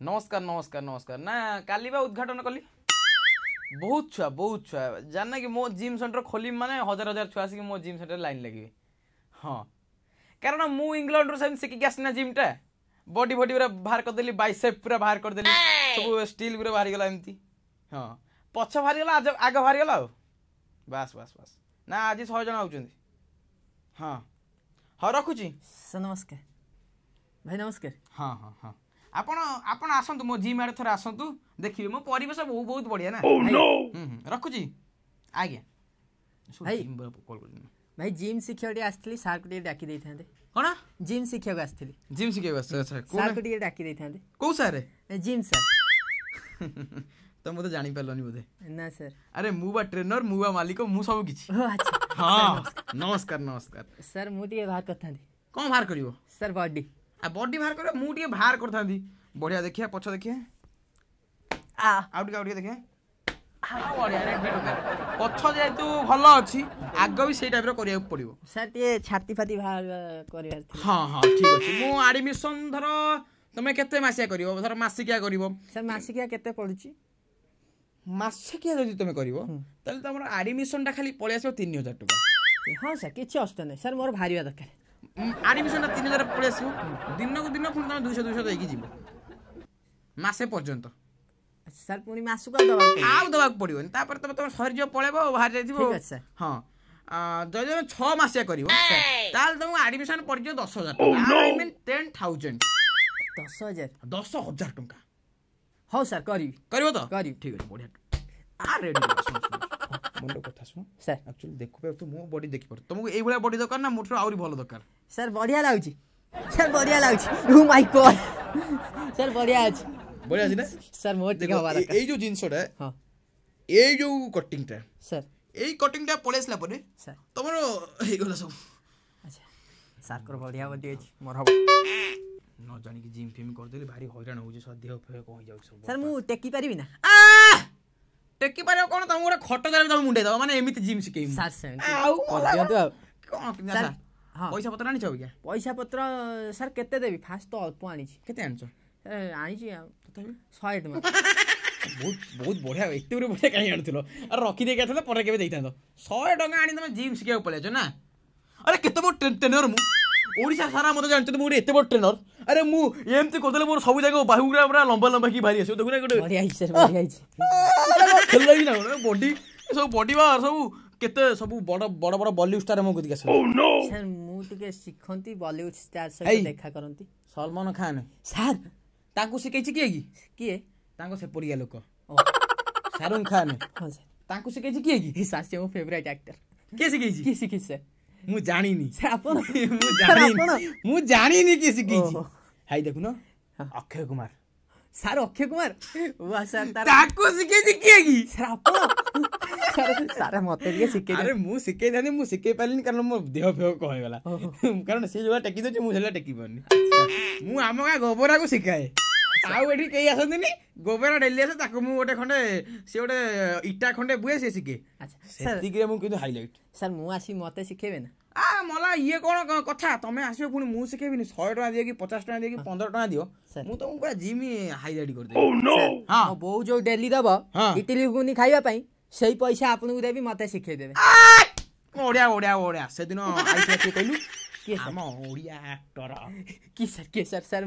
ନମସ୍କାର ନମସ୍କାର ନମସ୍କାର। ନା କାଲି ବା ଉଦ୍ଘାଟନ କଲି, ବହୁତ ଛୁଆ ବହୁତ ଛୁଆ ଜାଣିନା କି ମୋ ଜିମ୍ ସେଣ୍ଟର ଖୋଲିବି ମାନେ ହଜାର ହଜାର ଛୁଆ ଆସିକି ମୋ ଜିମ୍ ସେଣ୍ଟରରେ ଲାଇନ୍ ଲାଗିବେ। ହଁ, କାରଣ ମୁଁ ଇଂଲଣ୍ଡରୁ ସେମିତି ଶିଖିକି ଆସିନା ଜିମ୍ଟା, ବଡି ଫଡି ପୁରା ବାହାର କରିଦେଲି, ବାଇସେପ୍ ପୁରା ବାହାର କରିଦେଲି, ସବୁ ଷ୍ଟିଲ୍ ପୁରା ବାହାରିଗଲା ଏମିତି। ହଁ, ପଛ ବାହାରିଗଲା, ଆଗ ବାହାରିଗଲା, ଆଉ ବାସ୍ ବାସ୍ ବାସ୍। ନା ଆଜି 100 ଜଣ ଆଉଛନ୍ତି। ହଁ ହଁ, ରଖୁଛି। ସାର୍ ନମସ୍କାର। ଭାଇ ନମସ୍କାର। ହଁ ହଁ ହଁ, ଆପଣ ଆପଣ ଆସନ୍ତୁ ମୋ ଜିମ୍ ଆଡ଼େ ଥରେ ଆସନ୍ତୁ, ଦେଖିବେ ମୋ ପରିବେଶ ବହୁତ ବହୁତ ବଢ଼ିଆ ନା। ରଖୁଛି ଆଜ୍ଞା। ଭାଇ ଭାଇ, ଜିମ୍ ଶିଖିବାକୁ ଟିକେ ଆସିଥିଲି, ସାର୍କୁ ଟିକେ ଡାକି ଦେଇଥାନ୍ତେ। କଣ? ଜିମ୍ ଶିଖିବାକୁ ଆସିଥିଲି। ଜିମ୍ ଶିଖିବାକୁ ଆସିଛ? ଆଚ୍ଛା, ସାର୍କୁ ଟିକେ ଡାକି ଦେଇଥାନ୍ତେ। କୋଉ ସାର୍? Gym sir. ତ ମୁଁ ତ ଜାଣିପାରିଲନି ବୋଧେ? ନା ସାର୍। ଆରେ ମୁଁ ବା ଟ୍ରେନର, ମୁଁ ବା ମାଲିକ, ମୁଁ ସବୁ କିଛି। ହଁ, ନମସ୍କାର ନମସ୍କାର। ସାର୍ ମୁଁ ଟିକେ ବାହାର କରିଥାନ୍ତି। କଣ ବାହାର କରିବ? Sir body. ଆଉ ବଡି ବାହାର କରିବ? ମୁଁ ଟିକେ ବାହାର କରିଥାନ୍ତି। ବଢିଆ, ଦେଖିବା ପଛ ଦେଖିବା, ଆଉ ଟିକେ ଆଉ ଟିକେ ଦେଖିବା। ବଢିଆ, ପଛ ଯେହେତୁ ଭଲ ଅଛି, ଆଗ ବି ସେଇ ଟାଇପର କରିବାକୁ ପଡିବ। ସାର୍ ଟିକେ ଛାତି ଫାତି ବାହାର କରିବାର। ହଁ ହଁ, ଠିକ ଅଛି। ମୁଁ ଆଡମିସନ ଧର ତମେ କେତେ ମାସିଆ କରିବ? ଧର ମାସିକିଆ କରିବ? ସାର୍ ମାସିକିଆ କେତେ ପଡୁଛି? ମାସିକିଆ ଯଦି ତମେ କରିବ ତାହେଲେ ତମର ଆଡମିସନଟା ଖାଲି ପଳେଇ ଆସିବ 3000 ଟଙ୍କା। ହଁ ସାର୍, କିଛି ଅସୁବିଧା ନାହିଁ ସାର୍, ମୋର ବାହାରିବା ଦରକାର। ଆଡମିସନଟା 3000 ପଳେଇ ଆସିବ, ଦିନକୁ ଦିନ ପୁଣି ତମେ 200 200 ଦେଇକି ଯିବ ମାସେ ପର୍ଯ୍ୟନ୍ତ। ସାର୍ ପୁଣି ମାସକୁ ଆଉ ଦେବାକୁ ପଡିବନି, ତାପରେ ତମେ ତମେ ସରିଯିବ, ପଳେଇବ, ବାହାରି ଯାଇଥିବ। ହଁ, ଯଦି ତମେ 6 ମାସିଆ କରିବ ତାହେଲେ ତମକୁ ଆଡମିସନ ପଡିଯିବ 10000 ଟଙ୍କା। I mean 10,000। 10000? 10000 ଟଙ୍କା। ହଉ ସାର୍, କରିବି। କରିବ ତ? କରିବି। ଠିକ ଅଛି, ବଢିଆ। ରେଡି, ମୁଣ୍ଡ କଥା ଶୁଣ ସାର୍। ଆକ୍ଚୁଆଲି ଦେଖିପାରୁ ମୋ ବଡି, ଦେଖିପାରୁ ତମକୁ ଏଇଭଳିଆ ବଡି ଦରକାର ନା ମୋଠୁ ଆହୁରି ଭଲ ଦରକାର? ସାର୍ ବଢିଆ ଲାଗୁଛି ସାର୍, ବଢିଆ ଲାଗୁଛି। ଓ ମାଇ ଗଡ୍ ସାର୍, ବଢିଆ ଅଛି। ବଢିଆ ଅଛି ନା? ସାର୍ ମୋର ଟିକେ ହବା ଦରକାର। ଏଇ ଯୋଉ ଜିନିଷଟା, ହଁ, ଏଇ ଯୋଉ କଟିଂଟା ସାର୍, ଏଇ କଟିଂଟା ପଳେଇ ଆସିଲା ପରେ ସାର୍ ତମର ହେଇଗଲା ସବୁ। ଆଚ୍ଛା, ସାର୍ଙ୍କର ବଢିଆ ବଡି ଅଛି, ମୋର ହବ। ନ ଜାଣିକି ଜିମ୍ ଫିମ୍ କରିଦେଲି, ଭାରି ହଇରାଣ ହଉଛି, ଦେହ ଫେହ କଣ ହେଇଯାଉଛି ସବୁ। ସାର୍ ମୁଁ ଟେକି ପାରିବି ନା? ଟେକି ପାରିବ କଣ, ତମକୁ ଗୋଟେ ଖଟ ଦେଲେ ତମେ ମୁଣ୍ଡେଇ ଦବ, ମାନେ ଏମିତି ଜିମ୍ ଶିଖେଇବି। ସାର୍ ସେମିତି ଆଉ କଣ? ପଇସା ପତ୍ର ଆଣିଛ? ଆଜ୍ଞା ପଇସା ପତ୍ର ସାର୍ କେତେ ଦେବି? ଫାଷ୍ଟ ତ ଅଳ୍ପ ଆଣିଛି। କେତେ ଆଣିଛ? ଆଣିଛି ଆଉ ତଥାପି 100 ଟଙ୍କା। ବହୁତ ବହୁତ ବଢିଆ। ଏତେ ଗୁଡେ ବଢିଆ କାହିଁ ଆଣୁଥିଲ? ଆରେ ରଖିଦେଇକି ଆସିଥାନ୍ତ, ପରେ କେବେ ଦେଇଥାନ୍ତ। 100 ଟଙ୍କା ଆଣି ତମେ ଜିମ୍ ଶିଖିବାକୁ ପଳେଇଛ ନା? ଆରେ କେତେ ବଡ଼ ଟ୍ରେନର ମୁଁ, ଓଡ଼ିଶା ସାରା ମତେ ଜାଣିଛନ୍ତି ମୁଁ ଗୋଟେ ଏତେ ବଡ଼ ଟ୍ରେନର। ଆରେ ମୁଁ ଏମିତି କରିଦେଲେ ମୋର ସବୁ ଯାକ ବାହୁ ଗୁଡ଼ା ପୁରା ଲମ୍ବା ଲମ୍ବା ହେଇକି ବାହାରି ଆସିବ। ଦେଖୁନା ଗୋଟେ ବଢିଆ ହେଇଛି ସାର୍, ବଢିଆ ହେଇଛି। ଖେଳିଲା ନା ବଡି ସବୁ, ବଡି ବା ସବୁ କେତେ ସବୁ ବଡ ବଡ ବଡ ବଲିଉଡ ଷ୍ଟାର ମୋ କତିକି ଆସନ୍ତି। ସାର୍ ମୁଁ ଟିକେ ଶିଖନ୍ତି, ବଲିଉଡ ଷ୍ଟାର ସହିତ ଦେଖା କରନ୍ତି। ସଲମାନ ଖାନ ସାର୍ ତାଙ୍କୁ ଶିଖେଇଛି କିଏ କି? କିଏ? ତାଙ୍କ ସେପରିଆ ଲୋକ ଶାହରୁଖ ଖାନ। ହଁ ସାର୍, ତାଙ୍କୁ ଶିଖେଇଛି କିଏ କି? ସାର୍ ସେ ମୋ ଫେଭରାଇଟ୍ ଆକ୍ଟର। କିଏ ଶିଖେଇଛି? କିଏ ଶିଖେଇଛି ସାର୍? ମୁଁ ଜାଣିନି। ଆପଣ? ମୁଁ ଜାଣିନି, ମୁଁ ଜାଣିନି କିଏ ଶିଖେଇଛି। ହାଇ ଦେଖୁନ, ଅକ୍ଷୟ କୁମାର ସାର୍। ଅକ୍ଷୟ କୁମାର ସାର୍ ତାକୁ ଶିଖେଇଛି କିଏ କି? ସାର୍ ଆପଣ? ସାର୍ ମତେ ଟିକେ ଶିଖେଇ। ଆରେ ମୁଁ ଶିଖେଇଥାନ୍ତି, ମୁଁ ଶିଖେଇ ପାରିଲିନି, କାରଣ ମୋ ଦେହ ଫେହ କଣ ହେଇଗଲା, କାରଣ ସେ ଯୋଉଭଳିଆ ଟେକି ଦଉଛି ମୁଁ ସେଇଭଳିଆ ଟେକି ପାରୁନି। ମୁଁ ଆମ ଗାଁ ଗୋବରାକୁ ଶିଖାଏ, ଆଉ ଏଠି କେହି ଆସନ୍ତିନି। ଗୋବରା ଡେଲି ଆସେ, ତାକୁ ମୁଁ ଗୋଟେ ଖଣ୍ଡେ, ସେ ଗୋଟେ ଇଟା ଖଣ୍ଡେ ବୁଏ, ସେ ଶିଖେ। ସେତିକିରେ ମୁଁ କିନ୍ତୁ ହାଇଲାଇଟ୍। ସାର୍ ମୁଁ ଆସି ମତେ ଶିଖେଇବେ ନା? ଆ ମଲା, ଇଏ କଣ କଥା, ତମେ ଆସିବ ପୁଣି ମୁଁ ଶିଖେଇବିନି? 100 ଟଙ୍କା ଦିଅ କି 50 ଟଙ୍କା ଦିଅ କି 15 ଟଙ୍କା ଦିଅ, ମୁଁ ତମକୁ ପୁରା ଜିମ୍ ହାଇଲାଇଟ୍ କରିଦେବି। ହଁ, ବୋଉ ଯୋଉ ଡେଲି ଦବ ଇଟିଲି ଘୁଗୁନି ଖାଇବା ପାଇଁ, ସେଇ ପଇସା ଆପଣଙ୍କୁ ଦେବି, ମତେ ଶିଖେଇ ଦେବେ। ବଢିଆ ବଢିଆ ବଢିଆ। ସେଦିନ ଆଇଥିଲା କିଏ କହିଲୁ? ଆମ ଓଡ଼ିଆ ଆକ୍ଟର। କି ସାର୍? କିଏ ସାର୍? ସାର୍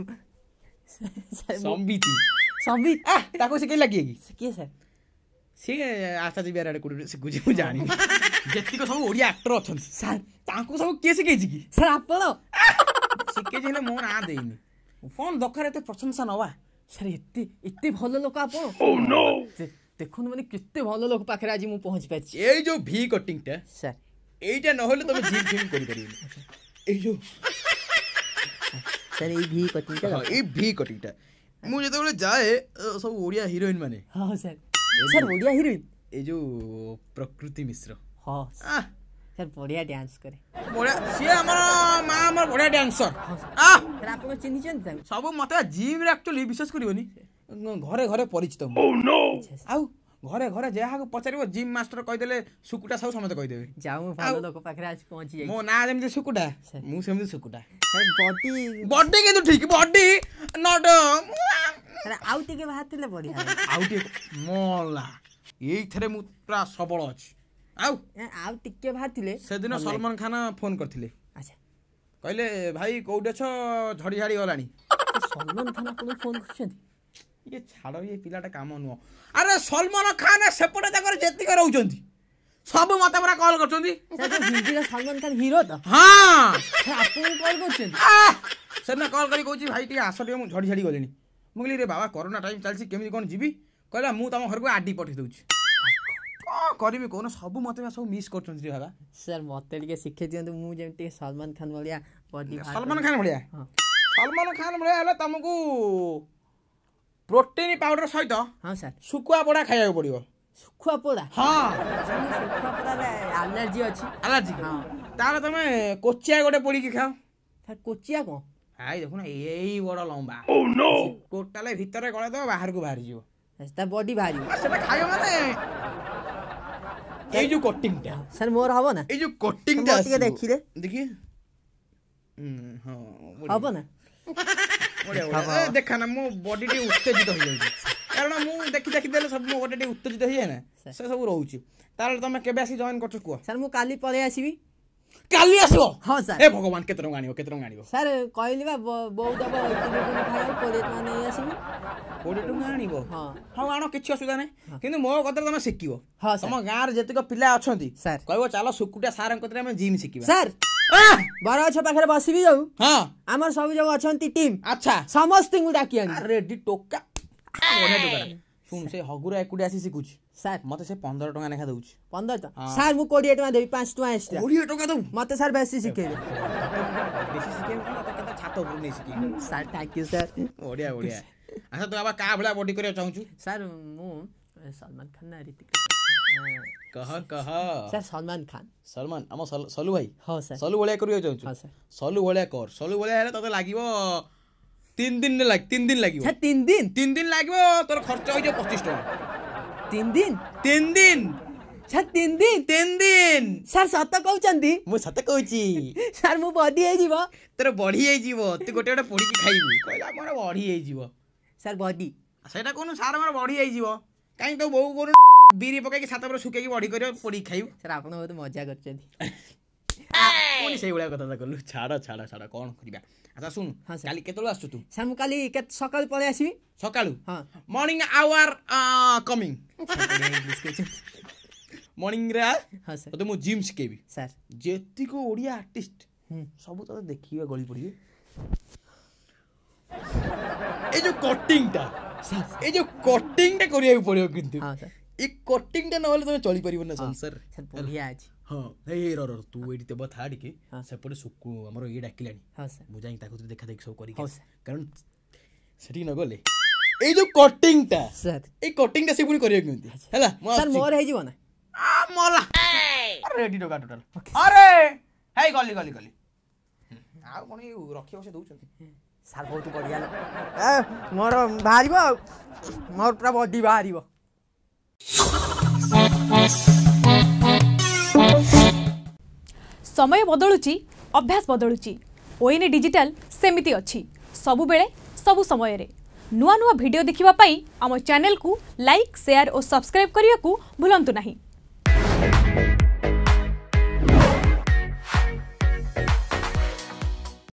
ସମ୍ବିତ। ସମ୍ବିତ ତାକୁ ଶିଖେଇଲା କିଏ କି? କିଏ ସାର୍? ସିଏ ଆଶା ବିହାର ଆଡ଼େ କୋଉଠି ଶିଖୁଛି, ମୁଁ ଜାଣିନି। ଯେତିକ ସବୁ ଓଡ଼ିଆ ଆକ୍ଟର ଅଛନ୍ତି ସାର୍, ତାଙ୍କୁ ସବୁ କିଏ ଶିଖେଇଛି କି? ସାର୍ ଆପଣ ଶିଖେଇଛି, ହେଲେ ମୋ ନାଁ ଦେଇନି। କଣ ଦରକାର ଏତେ ପ୍ରଶଂସା ନବା? ସାର୍ ଏତେ ଏତେ ଭଲ ଲୋକ ଆପଣ, ଦେଖନ୍ତୁ ମାନେ କେତେ ଭଲ ଲୋକ ପାଖରେ ଆଜି ମୁଁ ପହଞ୍ଚି ପାରିଛି। ଏଇ ଯୋଉ ଭି କଟିଂଟା ସାର୍, ଏଇଟା ନହେଲେ ତମେ ଜିମ୍ ଫିମ୍ କରିପାରିବନି। ଏଇ ଯୋଉ ସାର୍, ଏଇ ଭି କଟିଂଟା, ଏଇ ଭି କଟିଂଟା ମୁଁ ଯେତେବେଳେ ଯାଏ, ସବୁ ଓଡ଼ିଆ ହିରୋଇନ ମାନେ। ହଁ ସାର୍। Sir Odia heroine? ଏଇ ଯୋଉ ପ୍ରକୃତି ମିଶ୍ର। ହଁ ସାର୍, ବଢିଆ ଡ୍ୟାନ୍ସ କରେ। ବଢିଆ, ସିଏ ଆମର ମା, ଆମର ବଢିଆ ଡ୍ୟାନ୍ସର। ଆପଣ ଚିହ୍ନିଛନ୍ତି ତାଙ୍କୁ ସବୁ? ମତେ ଜିମ୍ରେ ଆକ୍ଚୁଆଲି ବିଶ୍ୱାସ କରିବନି, ଘରେ ଘରେ ପରିଚିତ ମୁଁ। ଆଉ ଘରେ ଘରେ ଯାହାକୁ ପଚାରିବ ଜିମ୍ ମାଷ୍ଟର କହିଦେଲେ ସୁକୁଟା ସାହୁ, ସମସ୍ତେ କହିଦେବେ। ଯାଉ, ମୁଁ ଭଲ ଲୋକ ପାଖରେ ଆସି ପହଞ୍ଚି ଯାଇଛି। ମୋ ନାଁ ଯେମିତି ସୁକୁଟା, ମୁଁ ସେମିତି ସୁକୁଟା। ବଡି ବଡି କିନ୍ତୁ ଠିକ, ବଡି not. ଆଉ ଟିକେ ବାହାରିଥିଲେ ବଢିଆ। ଆଉ ଟିକେ ମଲା, ଏଇଥିରେ ମୁଁ ପୁରା ସବଳ ଅଛି। ଆଉ ଆଉ ଟିକେ ବାହାରିଥିଲେ। ସେଦିନ ସଲମାନ ଖାନ ଫୋନ କରିଥିଲେ। ଆଚ୍ଛା। କହିଲେ, ଭାଇ କୋଉଠି ଅଛ, ଝଡ଼ି ଝାଡ଼ି ଗଲାଣି। ସଲମାନ ଖାନ ଆପଣଙ୍କୁ ଫୋନ କରିଛନ୍ତି? ଇଏ ଛାଡ଼, ଇଏ ପିଲାଟା କାମ ନୁହଁ। ଆରେ ସଲମାନ ଖାନ ସେପଟେ ତାଙ୍କର ଯେତିକି ରହୁଛନ୍ତି ସବୁ ମତେ ପୁରା କଲ୍ କରୁଛନ୍ତି। ହିନ୍ଦୀର ସଲମାନ ଖାନ ହିରୋ ତ? ହଁ। ଆପଣଙ୍କୁ କଲ୍ କରୁଛନ୍ତି? ସେଦିନ କଲ୍ କରି କହୁଛି, ଭାଇ ଟିକେ ଆସ ଟିକେ, ମୁଁ ଝଡ଼ି ଝାଡ଼ି ଗଲିଣି। ମୁଁ କହିଲି, ରେ ବାବା, କରୋନା ଟାଇମ୍ ଚାଲିଛି, କେମିତି କ'ଣ ଯିବି? କହିଲା, ମୁଁ ତମ ଘରକୁ ଆଡି ପଠେଇ ଦେଉଛି। କ'ଣ କରିବି କହୁନ? ସବୁ ମତେ ସବୁ ମିସ୍ କରୁଛନ୍ତି ରେ ବାବା। ସାର୍, ମତେ ଟିକେ ଶିଖେଇ ଦିଅନ୍ତୁ, ମୁଁ ଯେମିତି ସଲମାନ ଖାନ ଭଳିଆ ବଡି। ସଲମାନ ଖାନ ଭଳିଆ? ସଲମାନ ଖାନ ଭଳିଆ ହେଲେ ତମକୁ ପ୍ରୋଟିନ୍ ପାଉଡର ସହିତ ହଁ ସାର୍ ଶୁଖୁଆ ପୋଡ଼ା ଖାଇବାକୁ ପଡ଼ିବ। ଶୁଖୁଆ ପୋଡ଼ା? ହଁ। ଶୁଖୁଆ ପୋଡ଼ାରେ ଆଲର୍ଜି ଅଛି। ଆଲର୍ଜି? ତାହେଲେ ତମେ କୋଚିଆ ଗୋଟେ ପୋଡ଼ିକି ଖାଅ। ସାର୍, କୋଚିଆ କ'ଣ? I ଦେଖୁନ, ଏଇ ବଡ଼ ଲମ୍ବା, ଟୋଟାଲ ଭିତରେ ଗଳେଇ ଦବ, ବାହାରକୁ ବାହାରିଯିବ। ତା ବଡି ବାହାରିବ। ସେଟା ଖାଇବ ମାନେ ଏଇ ଯୋଉ କଟିଂଟା ସାର୍ ମୋର ହବ ନା? ଏଇ ଯୋଉ କଟିଂଟା ଟିକେ ଦେଖିଲେ। ଦେଖି। ହଁ, ହବ ନା? ବଢିଆ ବଢିଆ। ଦେଖା ନା, ମୋ ବଡି ଟିକେ ଉତ୍ତେଜିତ ହେଇଯାଉଛି, କାରଣ ମୁଁ ଦେଖି ଦେଖି ଦେଲେ ସବୁ ମୋ ବଡି ଟିକେ ଉତ୍ତେଜିତ ହେଇଯାଏ ନା, ସେ ସବୁ ରହୁଛି। ତାହେଲେ ତମେ କେବେ ଆସି ଜଏନ୍ କରୁଛ କୁହ? ସାର୍, ମୁଁ କାଲି ପଳେଇ ଆସିବି। କାଲି ଆସିବ? ହଁ ସାର୍। ଏ ଭଗବାନ, କେତେ ଟଙ୍କା ଆଣିବ, କେତେ ଟଙ୍କା ଆଣିବ? ସାର୍, କହିଲି ବା, ବୋଉ ଦବ ଖାଇବାକୁ, 20 ଟଙ୍କା ନେଇ ଆସିବି। 20 ଟଙ୍କା ଆଣିବ? ହଁ। ହଉ ଆଣ, କିଛି ଅସୁବିଧା ନାହିଁ। କିନ୍ତୁ ମୋ କଥାରେ ତମେ ଶିଖିବ। ହଁ। ତମ ଗାଁରେ ଯେତିକ ପିଲା ଅଛନ୍ତି ସାର୍, କହିବ ଚାଲ ସୁକୁଟା ସାରଙ୍କ କତିରେ ଆମେ ଜିମ୍ ଶିଖିବା। ସାର୍, ବରଗଛ ପାଖରେ ବସିବି ଯୋଉ। ହଁ। ଆମର ସବୁ ଯୋଉ ଅଛନ୍ତି ଟିମ୍। ଆଚ୍ଛା। ସମସ୍ତଙ୍କୁ ଡାକି ଆଣିବି। ରେଡି ଟୋକା, ବଢିଆ ଟୋକା। ଶୁଣ, ସେ ହଗୁରା ଏକୁଟିଆ ଆସି ଶିଖୁଛି ସାର୍। ମତେ ସେ 15 ଟଙ୍କା ଲେଖା ଦଉଛି। 15 ଟଙ୍କା? ସାର୍, ମୁଁ 20 ଟଙ୍କା ଦେବି, 5 ଟଙ୍କା ଏକ୍ସଟ୍ରା। 20 ଟଙ୍କା ଦବୁ? ମତେ ସାର୍ ବେଶୀ ଶିଖେଇବେ। ବେଶୀ ଶିଖେଇବେ କଣ, ତତେ କେତେ ଛାତ ଉପରୁ ନେଇ ଶିଖେଇବେ। Sir, thank you sir. ବଢିଆ ବଢିଆ। ଆଚ୍ଛା, ତୁ ବାବା କାହା ଭଳିଆ ବଡି କରିବାକୁ ଚାହୁଁଛୁ? ସାର୍, ମୁଁ ସଲମାନ ଖାନ ନା ଋତିକ? କହ କହ। ସାର୍, ସଲମାନ ଖାନ। ସଲମାନ, ଆମ ସଲୁ ଭାଇ? ହଁ ସାର୍। ସଲୁ ଭଳିଆ କରିବାକୁ ଚାହୁଁଛୁ? ହଁ ସାର୍। ସଲୁ ଭଳିଆ କର। ସଲୁ ଭଳିଆ ହେଲେ ତତେ ଲାଗିବ 3 ଦିନ, 3 ଦିନ ଲାଗିବ। ସାର୍, 3 ଦିନ? 3 ଦିନ ଲାଗିବ, ତୋର ଖର୍ଚ୍ଚ ହେଇଯିବ 25 ଟଙ୍କା। 3 ଦିନ? 3 ଦିନ। ସାର୍, 3 ଦିନ? 3 ଦିନ। ସାର୍, ସତ କହୁଛନ୍ତି? ମୁଁ ସତ କହୁଛି। ସାର୍, ମୁଁ ବଡି ହେଇଯିବ? ତୋର ବଢି ହେଇଯିବ, ତୁ ଗୋଟେ ଗୋଟେ ପୋଡିକି ଖାଇବୁ। କହିଲା ମୋର ବଢି ହେଇଯିବ। ସାର୍, ବଡି ସେଇଟା କହୁନୁ, ସାର୍ ମୋର ବଢି ହେଇଯିବ। କାହିଁ ତୋ ବୋଉ କହୁନୁ ବିରି ପକେଇକି ଛାତ ଉପରେ ଶୁଖେଇକି ବଢି କରିବ, ପୋଡିକି ଖାଇବୁ। ସାର୍, ଆପଣ ବହୁତ ମଜା କରୁଛନ୍ତି। ପୁଣି ସେଇଭଳିଆ କଥା କଲୁ। ଛାଡ଼ ଛାଡ଼ ଛାଡ଼, କ'ଣ କରିବା। ଆଚ୍ଛା ଶୁଣୁ, କାଲି କେତେବେଳେ ଆସୁଛୁ ତୁ? ସାର୍, ମୁଁ କାଲି ସକାଳୁ ପଳେଇ ଆସିବି। ସକାଳୁ? ହଁ। ମର୍ଣ୍ଣିଂ ଆୱାର କମିଂ, ମର୍ଣ୍ଣିଂରେ। ହଁ ସାର୍। ତତେ ମୁଁ ଜିମ୍ ଶିଖେଇବି। ସାର୍, ଯେତିକ ଓଡ଼ିଆ ଆର୍ଟିଷ୍ଟ ସବୁ ତତେ ଦେଖିବା ଗଳି ପଡ଼ିବେ। ଏଇ ଯୋଉ କଟିଂଟା, ଏଇ ଯୋଉ କଟିଂଟା କରିବାକୁ ପଡ଼ିବ କିନ୍ତୁ। ଏଇ କଟିଂଟା ନହେଲେ ତମେ ଚଳିପାରିବ ନା ସଂସାରରେ। ବଢିଆ ଅଛି। ହଁ, ଏଇ ର ର, ତୁ ଏଇଠି ତେବ ଥା ଟିକେ, ସେପଟେ ସୁକୁ ଆମର ଇଏ ଡାକିଲାଣି। ମୁଁ ଯାଇକି ତାକୁ ଦେଖା ଦେଖି ସବୁ କରିକି, କାରଣ ସେଠିକି ନ ଗଲେ ଏଇ ଯୋଉ କଟିଂଟା, ଏଇ କଟିଂଟା ସେ ପୁଣି କରିବାକୁ କେମିତି ହେଲା। ମୋର ହେଇଯିବ ନା? ମଲା, ରେଡି ଟୋକା ଟୋଟାଲ। ଆରେ ହେଇ, ଗଲି ଗଲି ଗଲି। ଆଉ କ'ଣ ଏଇ ରଖିବ ସେ ଦଉଛନ୍ତି। ସାର୍, ବହୁତ ବଢ଼ିଆ। ମୋର ବାହାରିବ ଆଉ ମୋର ପୁରା ବଡି ବାହାରିବ। ସମୟ ବଦଳୁଛି, ଅଭ୍ୟାସ ବଦଳୁଛି, ଓଏନ୍ଏ ଡିଜିଟାଲ ସେମିତି ଅଛି ସବୁବେଳେ, ସବୁ ସମୟରେ। ନୂଆ ନୂଆ ଭିଡ଼ିଓ ଦେଖିବା ପାଇଁ ଆମ ଚ୍ୟାନେଲକୁ ଲାଇକ୍, ସେୟାର ଓ ସବସ୍କ୍ରାଇବ୍ କରିବାକୁ ଭୁଲନ୍ତୁ ନାହିଁ।